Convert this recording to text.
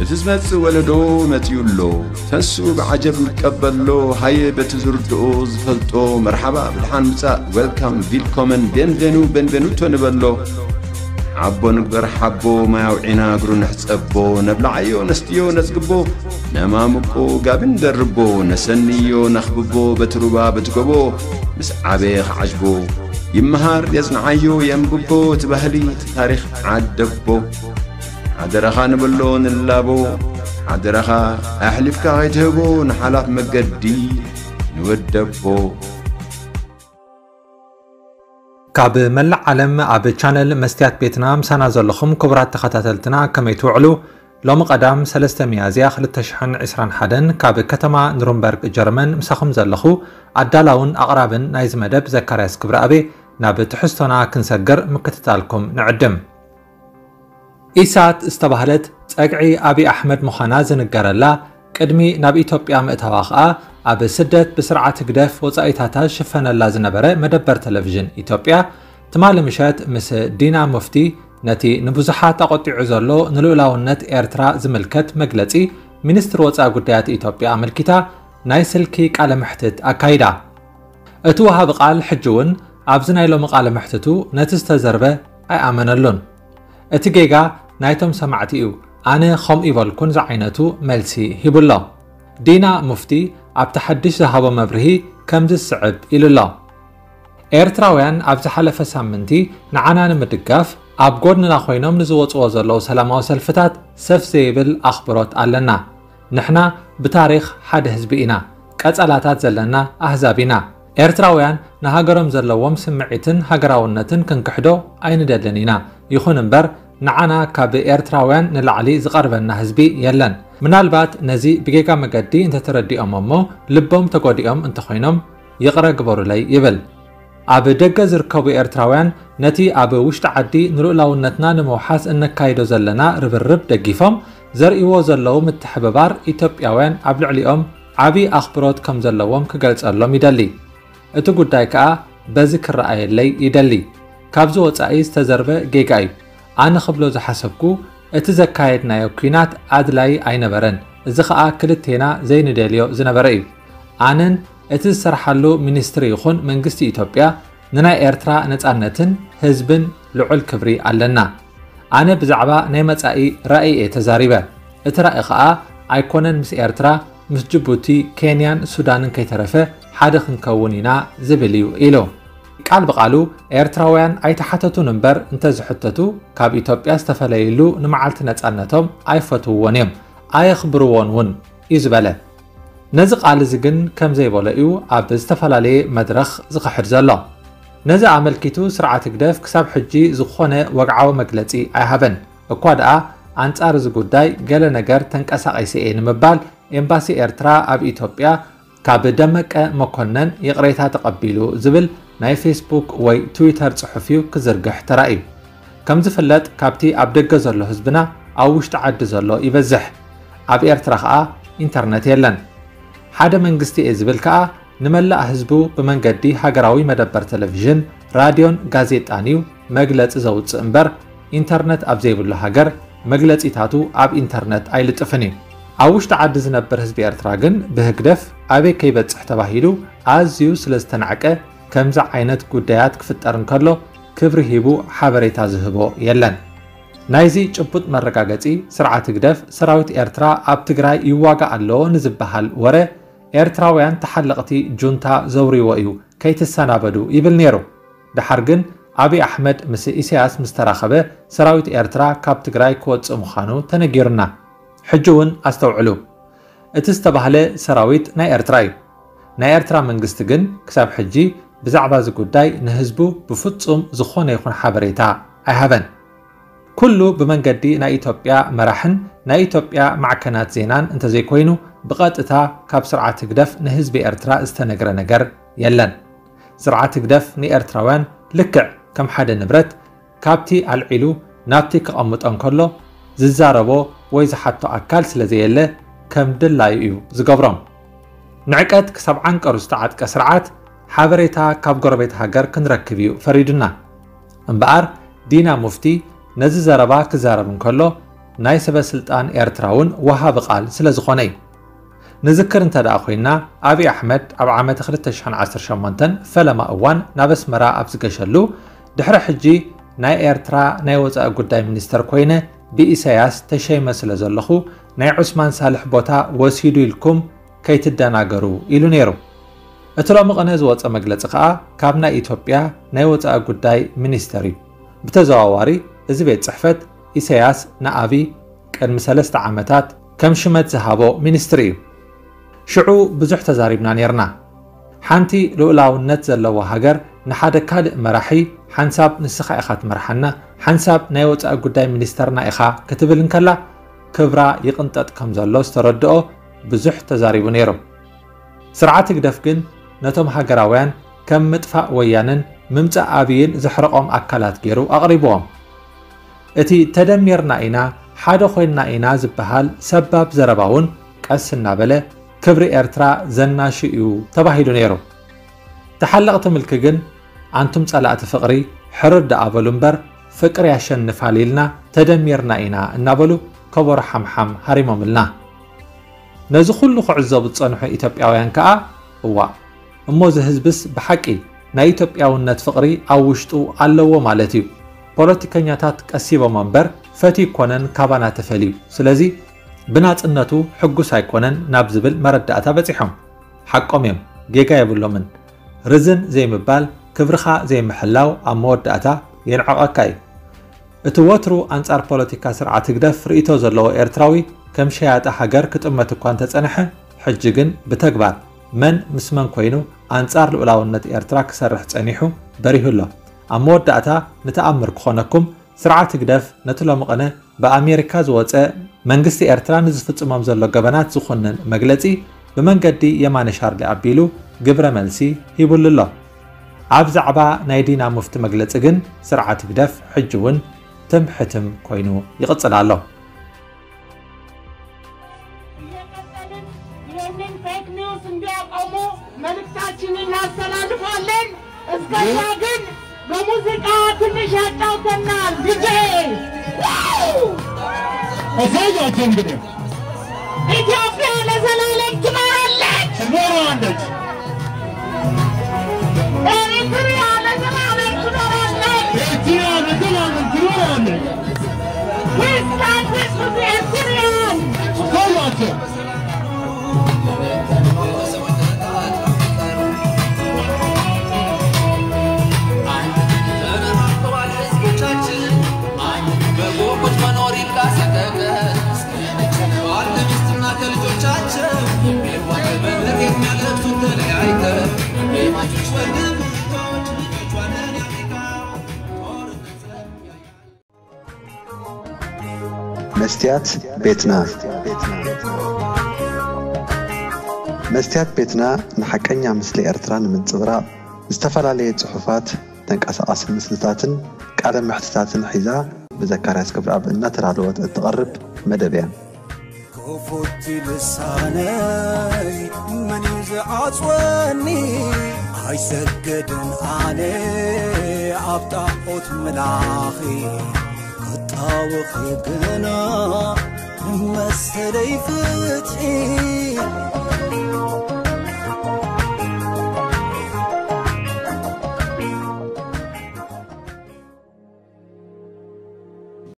እቲ ዝመጽእ ወለዶ መጺኡ ኣሎ። ተንስኡ ብዓጀብ ንቀበሎ። ሃየ በቲ ዝርድኦ ዝፈልጦ መርሓባ ብድሓን ምጻእ፣ ዌልካም፣ ቪልኮመን፣ ቤንቬኑ፣ ቤንቬኑቶ ንበሎ። ሓቦ ንግበር ሓቦ፣ ማይ ኣውዒና እግሩ ንሕጸቦ። ነብልዓዮ ነስትዮ ነጽግቦ፣ ነማምቆ ጋቢ ንደርቦ። ነሰንዮ ነኽብቦ በቲ ሩባ በቲ ጎቦ። ምስ ዓበየ ክዓጅቦ ይመሃር የጽንዓዮ የንብቦ። እቲ ባህሊ እቲ ታሪኽ ዓደቦ። ሓደራኻ ንብሎ ንላቦ። ሓደራኻ ኣሕሊፍካ ከይትህቦ ንሓላፍ መገዲ ንወደቦ። ካብ መላእ ዓለም ኣብ ቻነል መስትያት ቤትና ምሳና ዘለኹም ክቡራት ተኸታተልትና ከመይ ትውዕሉ? ሎሚ ቀዳም ሰለስተ ሚያዝያ ክልተ ሽሕን ዕስራን ሓደን ካብ ከተማ ኑርንበርግ ጀርመን ምሳኹም ዘለኹ ኣዳላውን ኣቕራብን ናይዚ መደብ ዘካርያስ ክብረኣቤ። ናብ ትሕዝቶና ክንሰግር ምክትታልኩም ንዕድም። ኢሳት ዝተባህለት ጸግዒ ኣብይ ኣሕመድ ምዃና ዝንገረላ፣ ቅድሚ ናብ ኢትዮጵያ ምእታዋ ኸኣ ኣብ ስደት ብስርዓት ህግደፍ ወጻኢታታ ዝሽፈነላ ዝነበረ መደበር ቴሌቪዥን ኢትዮጵያ፣ ትማሊ ምሸት ምስ ዲና ሙፍቲ ነቲ ንብዙሓት ኣቖጢዑ ዘሎ ንልኡላውነት ኤርትራ ዝምልከት መግለጺ ሚኒስትሪ ወጻኢ ጉዳያት ኢትዮጵያ ኣመልኪታ ናይ ስልኪ ቃለ መሕትት ኣካይዳ። እቲ ወሃቢ ቃል ሕጂ እውን ኣብዚ ናይ ሎሚ ቃለ መሕትቱ ነቲ ዝተዘርበ ኣይኣመነሉን። እቲ ጌጋ ናይቶም ሰማዕቲ እዩ፣ ኣነ ከምኡ ይበልኩን ዝዓይነቱ መልሲ ሂቡ ኣሎ። ዲና ሙፍቲ ኣብቲ ሓድሽ ዝሃቦ መብርሂ ከምዚ ዝስዕብ ኢሉ ኣሎ። ኤርትራውያን ኣብ ዝሓለፈ ሳምንቲ ንዓና ንምድጋፍ ኣብ ጎድንና ኮይኖም ንዝወጽዎ ዘለዉ ሰላማዊ ሰልፍታት ሰፍ ዘይብል ኣኽብሮት ኣለና። ንሕና ብታሪኽ ሓደ ህዝቢ ኢና፣ ቀጸላታት ዘለና ኣህዛብ ኢና። ኤርትራውያን ንሃገሮም ዘለዎም ስምዒትን ሃገራውነትን ክንክሕዶ ኣይንደልን ኢና። ይኹን እምበር ንዓና ካብ ኤርትራውያን ንላዕሊ ዝቐርበና ህዝቢ የለን። ምናልባት ነዚ ብጌጋ መገዲ እንተተረዲኦም እሞ ልቦም ተጎዲኦም እንተኾይኖም ይቕረ ግበሩለይ ይብል። ኣብ ደገ ዝርከቡ ኤርትራውያን ነቲ ኣብ ውሽጢ ዓዲ ንልኡላውነትና ንምውሓስ እነካይዶ ዘለና ርብርብ ደጊፎም ዘርእይዎ ዘለዉ ምትሕብባር ኢትዮጵያውያን ኣብ ልዕሊኦም ዓቢ ኣኽብሮት ከም ዘለዎም ክገልጸሎም ይደሊ። እቲ ጉዳይ ከኣ በዚ ክረኣየለይ ይደሊ። ካብዚ ወጻኢ ዝተዘርበ ጌጋ እዩ። ኣነ ክብሎ ዝሓሰብኩ እቲ ዘካየድናዮ ኲናት ኣድላዪ ኣይነበረን። እዚ ኸኣ ክልቴና ዘይንደልዮ ዝነበረ እዩ። ኣነን እቲ ዝሰርሓሉ ሚኒስትሪ ይኹን መንግስቲ ኢትዮጵያ ንናይ ኤርትራ ነጻነትን ህዝብን ልዑል ክብሪ ኣለና። ኣነ ብዛዕባ ናይ መጻኢ ራእይ እየ ተዛሪበ። እቲ ራእይ ኸኣ ኣይኮነን ምስ ኤርትራ፣ ምስ ጅቡቲ፣ ኬንያን ሱዳንን ከይተረፈ ሓደ ክንከውን ኢና ዝብል እዩ ኢሉ። ቃል ብቓሉ ኤርትራውያን ኣይተሓተቱን እምበር እንተዝሕተቱ ካብ ኢትዮጵያ ዝተፈለይሉ ንመዓልቲ ነጻነቶም ኣይፈትውዎን እዮም፣ ኣየኽብርዎን እውን እዩ ዝበለ። ነዚ ቃል እዚ ግን ከም ዘይበሎ እዩ ኣብ ዝተፈላለየ መድረኽ ዝኽሕድ ዘሎ። ነዚ ኣመልኪቱ ስርዓት ህግደፍ ክሳብ ሕጂ ዝኾነ ወግዓዊ መግለጺ ኣይሃበን። እኳ ደኣ ኣንጻር እዚ ጉዳይ ገለ ነገር ተንቀሳቒሰ እየ ንምባል ኤምባሲ ኤርትራ ኣብ ኢትዮጵያ ካብ ደመቀ መኮነን ይቕሬታ ተቐቢሉ ዝብል ናይ ፌስቡክ ወይ ትዊተር ጽሑፍ እዩ ክዝርግሕ ተራእዩ። ከም ዝፍለጥ ካብቲ ኣብ ደገ ዘሎ ህዝብና ኣብ ውሽጢ ዓዲ ዘሎ ይበዝሕ። ኣብ ኤርትራ ኸኣ ኢንተርነት የለን። ሓደ መንግስቲ እየ ዝብል ከኣ ንመላእ ህዝቡ ብመንገዲ ሃገራዊ መደበር ቴሌቪዥን፣ ራድዮን ጋዜጣን እዩ መግለጺ ዘውጽእ እምበር ኢንተርነት ኣብ ዘይብሉ ሃገር መግለጺታቱ ኣብ ኢንተርነት ኣይልጥፍን እዩ። ኣብ ውሽጢ ዓዲ ዝነብር ህዝቢ ኤርትራ ግን ብህግደፍ ኣበይ ከይበጽሕ ተባሂሉ ኣዝዩ ስለ ዝተናዕቀ ከምዚ ዓይነት ጉዳያት ክፍጠር እንከሎ ክብሪ ሂቡ ሓበሬታ ዝህቦ የለን። ናይዚ ጭቡጥ መረጋገጺ ስርዓት ህግደፍ ሰራዊት ኤርትራ ኣብ ትግራይ ይዋጋእ ኣሎ ንዝበሃል ወረ ኤርትራውያን ተሓለቕቲ ጁንታ ዘውርይዎ እዩ ከይትሰናበዱ ይብል ነይሩ። ደሓር ግን ኣብይ ኣሕመድ ምስ ኢሳያስ ምስ ተራኸበ ሰራዊት ኤርትራ ካብ ትግራይ ክወጽእ ምዃኑ ተነጊሩና። ሕጂ እውን ኣስተውዕሉ፣ እቲ ዝተባህለ ሰራዊት ናይ ኤርትራ እዩ። ናይ ኤርትራ መንግስቲ ግን ክሳብ ሕጂ ብዛዕባ እዚ ጉዳይ ንህዝቡ ብፍጹም ዝኾነ ይኹን ሓበሬታ ኣይሃበን። ኩሉ ብመንገዲ ናይ ኢትዮጵያ መራሕን ናይ ኢትዮጵያ ማዕከናት ዜናን እንተዘይኮይኑ ብቐጥታ ካብ ስርዓት ህግደፍ ንህዝቢ ኤርትራ ዝተነግረ ነገር የለን። ስርዓት ህግደፍ ንኤርትራውያን ልክዕ ከም ሓደ ንብረት ካብቲ ኣልዒሉ ናብቲ ከቐምጦ እንከሎ ዝዛረቦ ወይ ዝሓቶ ኣካል ስለ ዘየለ ከም ድላዩ እዩ ዝገብሮም። ንዕቀት ክሳብ ዓንቀሩ ዝተዓጥቀ ስርዓት ሓበሬታ ካብ ጎረቤት ሃገር ክንረክብ እዩ ፈሪዱና። እምበኣር ዲና ሙፍቲ ነዚ ዘረባ ክዛረብ እንከሎ ናይ ሰበ ስልጣን ኤርትራ እውን ወሃቢ ቃል ስለ ዝኾነ እዩ። ንዝክር እንተ ደኣ ኮይና፣ ኣብይ ኣሕመድ ኣብ ዓመተ ክልተ ሽሕን ዓሰርተ ሸሞንተን ፈለማ እዋን ናብ ኣስመራ ኣብ ዝገሸሉ፣ ድሕሪ ሕጂ ናይ ኤርትራ ናይ ወጻኢ ጉዳይ ሚኒስተር ኮይነ ብኢሳያስ ተሸይመ ስለ ዘለኹ፣ ናይ ዑስማን ሳልሕ ቦታ ወሲዱ ኢልኩም ከይትደናገሩ ኢሉ ነይሩ። እቲ ሎሚ ቅነ ዝወጸ መግለጺ ከኣ ካብ ናይ ኢትዮጵያ ናይ ወጻኢ ጉዳይ ሚኒስተር እዩ። ብተዘዋዋሪ እዚ ቤት ጽሕፈት ኢሳያስ ንኣቢ ቅድሚ ሰለስተ ዓመታት ከም ሽመት ዝሃቦ ሚኒስትሪ እዩ። ሽዑ ብዙሕ ተዛሪብና ነይርና። ሓንቲ ልኡላውነት ዘለዋ ሃገር ንሓደ ካልእ መራሒ ሓንሳብ ንስኻ ኢኻ ትመርሓና፣ ሓንሳብ ናይ ወጻኢ ጉዳይ ሚኒስተርና ኢኻ ክትብል እንከላ ክብራ ይቕንጠጥ ከም ዘሎ ዝተረድኦ ብዙሕ ተዛሪቡ ነይሩ። ስርዓት ህግደፍ ግን ነቶም ሃገራውያን ከም ምጥፋእ ወያነን ምምጻእ ኣብይን ዘሕረቖም ኣካላት ገይሩ ኣቕሪብዎም። እቲ ተደሚርና ኢና፣ ሓደ ኮይንና ኢና ዝበሃል ሰባብ ዘረባ እውን ቀስ እናበለ ክብሪ ኤርትራ ዘናሹ እዩ ተባሂሉ ነይሩ። ተሓለቕቲ ምልኪ ግን ኣንቱም ጸላእቲ ፍቕሪ ሕርር ደኣ በሉ እምበር ፍቅሪ ያሸንፋል ኢልና ተደሚርና ኢና እናበሉ ከበሮ ሓምሓም ሃሪሞምልና። ነዚ ኩሉ ክዕዘቡ ዝጸንሑ ኢትዮጵያውያን ከኣ እዋእ እሞ እዚ ህዝብስ ብሓቂ ናይ ኢትዮጵያውነት ፍቕሪ ኣብ ውሽጡ ኣለዎ ማለት እዩ። ፖለቲከኛታት ቀሲቦም እምበር ፈትዩ ኮነን ካባና ተፈልዩ። ስለዚ ብናጽነቱ ሕጉስ ኣይኮነን ናብ ዝብል መረዳእታ በጺሖም። ሓቆም እዮም፣ ጌጋ የብሎምን። ርዝን ዘይምባል፣ ክብርኻ ዘይምሕላው ኣብ መወዳእታ የንዕቐካ እዩ። እቲ ወትሩ ኣንጻር ፖለቲካ ስርዓት ህግደፍ ርእይቶ ዘለዎ ኤርትራዊ ከም ሸያጢ ሃገር ክጥመት እኳ እንተጸንሐ፣ ሕጂ ግን ብተግባር መን ምስ መን ኮይኑ ኣንጻር ልኡላውነት ኤርትራ ክሰርሕ ጸኒሑ በሪሁ ኣሎ። ኣብ መወዳእታ ንተኣምር ክኾነኩም፣ ስርዓት ህግደፍ ነቲ ሎሚ ቅነ ብኣሜሪካ ዝወጸ መንግስቲ ኤርትራ ንዝፍጽሞም ዘሎ ገበናት ዝኹንን መግለጺ ብመንገዲ የማነ ሻርሊ ኣቢሉ ግብረ መልሲ ሂቡሉ ኣሎ። ኣብ ዛዕባ ናይ ዲና ሙፍቲ መግለጺ ግን ስርዓት ህግደፍ ሕጂ እውን ትም ሕትም ኮይኑ ይቕጽል ኣሎ። እየቀጠልን ይህንን ፌክ ኒውስ እንዲያቆሙ መልእክታችንን እናስተላልፋለን። እስከዛ ግን በሙዚቃ ትንሽ ያጫውተናል ዲጄ። አሳያቸው እንግዲህ ኢትዮጵያ ለዘላለም ትኖራለች። ትኖራለች። ኤሪትሪያ ለዘላለም ትኖራለች። ኤርትራ ለዘላለም ትኖራለች። We stand with the Eritreans. አሳያቸው መስትያት ቤትና። መስትያት ቤትና ንሓቀኛ ምስሊ ኤርትራ ንምንጽብራቕ ዝተፈላለየ ጽሑፋት፣ ተንቀሳቓሲ ምስልታትን ቃለ መሕትታትን ሒዛ ብዘካርያስ ገብረኣብ እናተዳለወት እትቐርብ መደብ እያ። ክፉት ልሳነይ መን እዩ ዝዓጽወኒ? ኣይሰግድን ኣነ ኣብ ጣዖት ምላኺ ክጣወኺ ግና መሰለይ ፍትሒ